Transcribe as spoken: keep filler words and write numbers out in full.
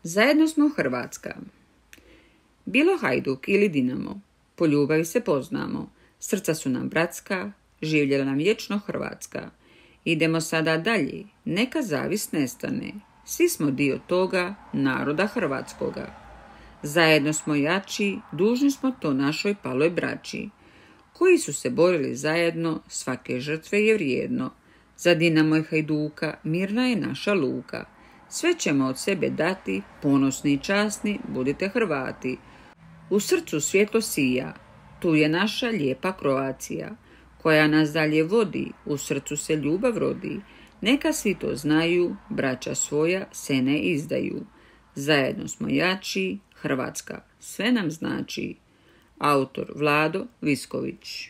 Zajedno smo Hrvatska. Bilo Hajduk ili Dinamo, po ljubavi se poznamo, srca su nam bratska, živjela nam vječno Hrvatska. Idemo sada dalje, neka zavis nestane, svi smo dio toga naroda hrvatskoga. Zajedno smo jači, dužni smo to našoj paloj braći, koji su se borili zajedno, svake žrtve je vrijedno. Za Dinamo i Hajduka mirna je naša luka, sve ćemo od sebe dati, ponosni i časni, budite Hrvati. U srcu svjetlo sija, tu je naša lijepa Kroacija, koja nas dalje vodi, u srcu se ljubav rodi. Neka svi to znaju, braća svoja se ne izdaju. Zajedno smo jači, Hrvatska sve nam znači. Autor Vlado Visković.